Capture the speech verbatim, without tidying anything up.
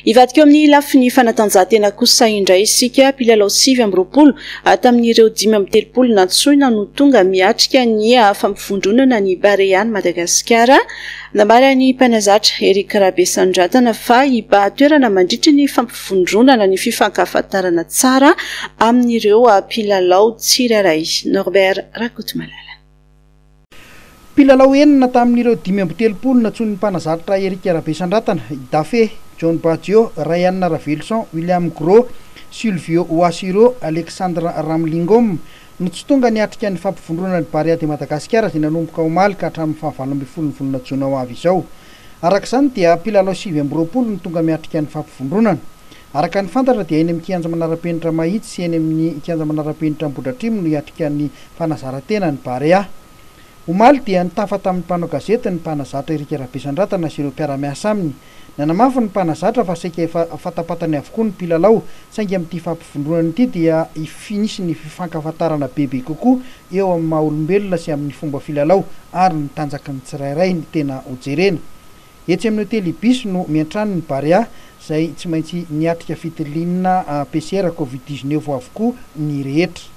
Hivadika eo amin'ny lafiny fanatanjahantena kosa indray isika. Mpilalao sivy amby roapolo tamin'ireo dimy amby telopolo nantsoina no tonga miatrika ny fampivondronana ny Barean'i Madagasikara. Nambaran'ny mpanazatra Eric Rabesandratana fa hibahan-toerana mandritry ny fampivondronana ny fifankahafantarana tsara amin'ireo mpilalao tsirairay. Norbert Rakotomalala. Mpilalao enina tamin'ireo dimy amby telopolo nantsoin'ny mpanazatra Eric Rabesandratana: Dafe, John Badio, Rayan Ravelison, William Gros, Sylvio Oasiro, Alexandre Ramlingom no tsy tonga niatrika ny fampivondronana ny Barea de Madagasikara izay nanomboka omaly ka hatramin'ny fahavalo ambin'ny folo ny volana jona ho avy izao. Araka izany dia mpilalao sivy amby roapolo no tonga miatrika ny fampivondronana. Araka ny fantatra dia eny amin'ny kianja manara-penitra Mahitsy sy eny amin'ny kianja manara-penitra Ambohidratrimo no hiatrika ny fanazaran-tena ny Barea. Omaly dia nitafa tamin'ny mpanao gazety ny mpanazatra Eric Rabesandratana sy ireo mpiara-miasa aminy. Nanamafy ny mpanazatra fa saika efa fantapantany avokoa ny mpilalao, saingy amin'ity fampivondronana ity dia hisy ny fifankahafantarana bebe kokoa eo amin'ny maha olombelona sy amin'ny fomba filalao ary ny tanjaky ny tsirairay ny tena hojerena. Etsy amin'ny hotely Ibis no miantrano ny Barea izay tsy maintsy niatrika fitiliana P C R Covid dix-neuf avokoa ny rehetra.